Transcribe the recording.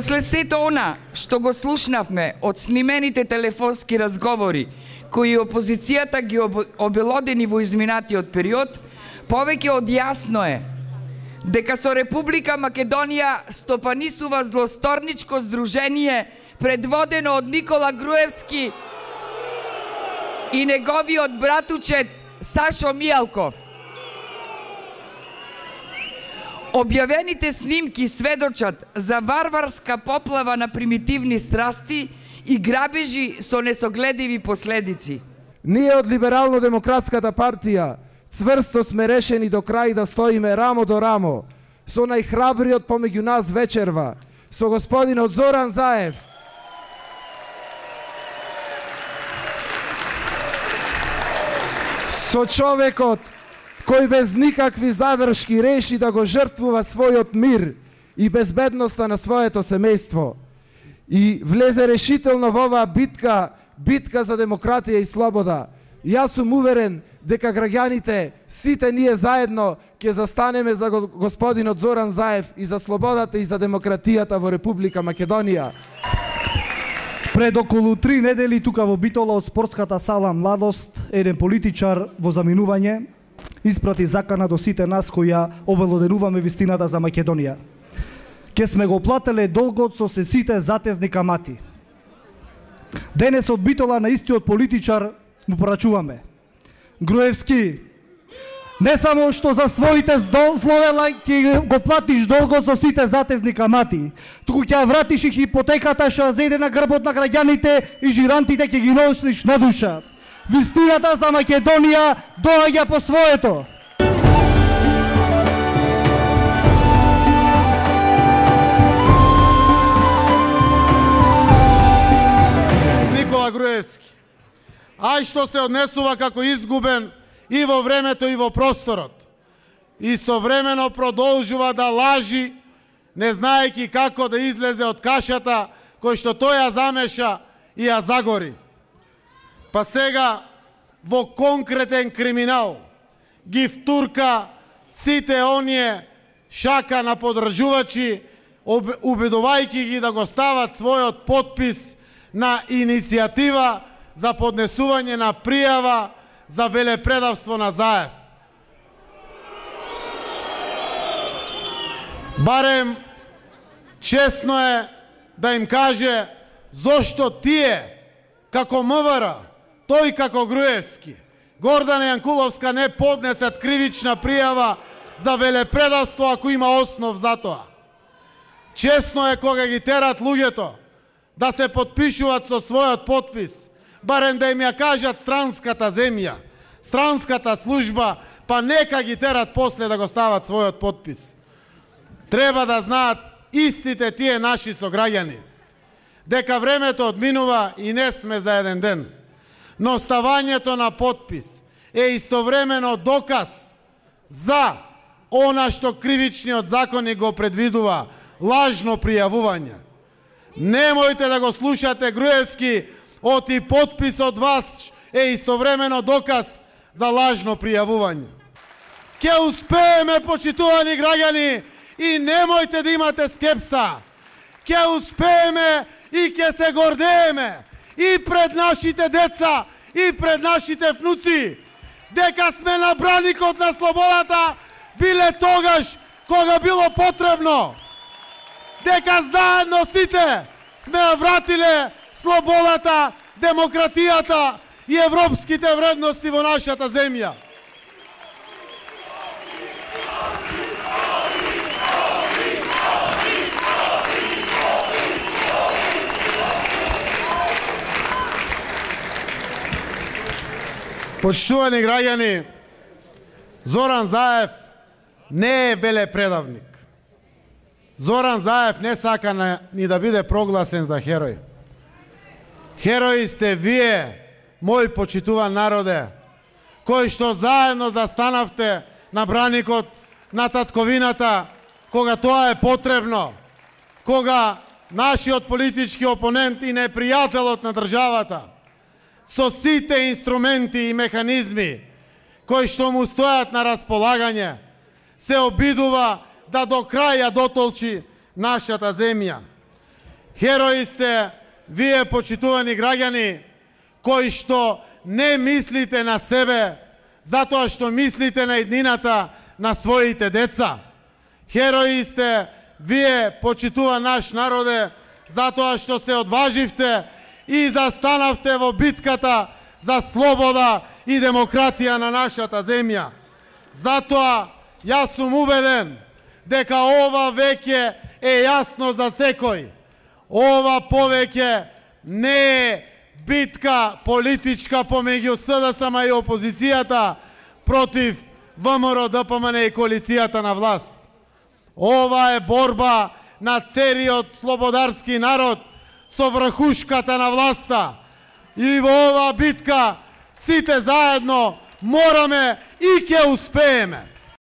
После сето она што го слушнавме од снимените телефонски разговори кои опозицијата ги обелодени во изминатиот период, повеќе од јасно е дека со Република Македонија стопанисува злосторничко здружение предводено од Никола Груевски и неговиот братучет Сашо Мијалков. Објавените снимки сведочат за варварска поплава на примитивни страсти и грабежи со несогледиви последици. Ние од Либерално-демократската партија цврсто сме решени до крај да стоиме рамо до рамо со најхрабриот помеѓу нас вечерва, со господинот Зоран Заев, со човекот кој без никакви задршки реши да го жртвува својот мир и безбедноста на своето семејство и влезе решително во оваа битка за демократија и слобода. Јас сум уверен дека граѓаните, сите ние заедно, ќе застанеме за господинот Зоран Заев и за слободата и за демократијата во Република Македонија. Пред околу 3 недели тука во Битола од спортската сала Младост, еден политичар во заминување испрати закана до сите нас кои ја обелоденуваме вистината за Македонија. Ке сме го плателе долгот со сите затезни камати. Денес од Битола на истиот политичар му порачуваме. Груевски, не само што за своите злодела ќе го платиш долгот со сите затезни камати, туку ќе вратиш и хипотеката што ја зеде на грбот на граѓаните и жирантите ќе ги носиш на душа. Вистината за Македонија доаѓа по своето. Никола Груевски, ај што се однесува како изгубен и во времето и во просторот. Истовремено продолжува да лажи, не знаејќи како да излезе од кашата кој што тој ја замеша и ја загори. Па сега во конкретен криминал ги втурка сите оние шака на подржувачи, убедувајќи ги да го стават својот потпис на иницијатива за поднесување на пријава за велепредавство на Заев. Барем честно е да им каже зошто тие како МВР, тој како Груевски, Гордана Јанкуловска не поднесат кривична пријава за велепредавство ако има основ за тоа. Честно е кога ги терат луѓето да се потпишуваат со својот потпис, барем да им ја кажат странската земја, странската служба, па нека ги терат после да го стават својот потпис. Треба да знаат истите тие наши сограѓани, дека времето одминува и не сме за еден ден. Но ставањето на потпис е истовремено доказ за она што кривичниот законник го предвидува, лажно пријавување. Немојте да го слушате Груевски, оти потпис од вас е истовремено доказ за лажно пријавување. Ке успееме, почитувани граѓани, и немојте да имате скепса. Ке успееме и ке се гордееме и пред нашите деца и пред нашите внуци дека сме на браникот на слободата биле тогаш кога било потребно. Дека заедно сите сме ја вратиле слободата, демократијата и европските вредности во нашата земја. Почитувани граѓани, Зоран Заев не е велепредавник. Зоран Заев не сака ни да биде прогласен за херој. Херои сте вие, мој почитуван народе, кои што заедно застанавте на браникот на татковината кога тоа е потребно, кога нашиот политички опонент и непријателот на државата со сите инструменти и механизми кои што му стојат на располагање се обидува да до крај ја дотолчи нашата земја. Херои сте вие, почитувани граѓани, кои што не мислите на себе, затоа што мислите на еднината на своите деца. Херои сте вие, почитува наш народе, затоа што се одваживте и застанавте во битката за слобода и демократија на нашата земја. Затоа јас сум убеден дека ова веќе е јасно за секој. Ова повеќе не е битка политичка помеѓу СДСМ и опозицијата против ВМРО, ДПМН и коалицијата на власт. Ова е борба на целиот слободарски народ со врхушката на власта. И во ова битка сите заедно мораме и ќе успееме.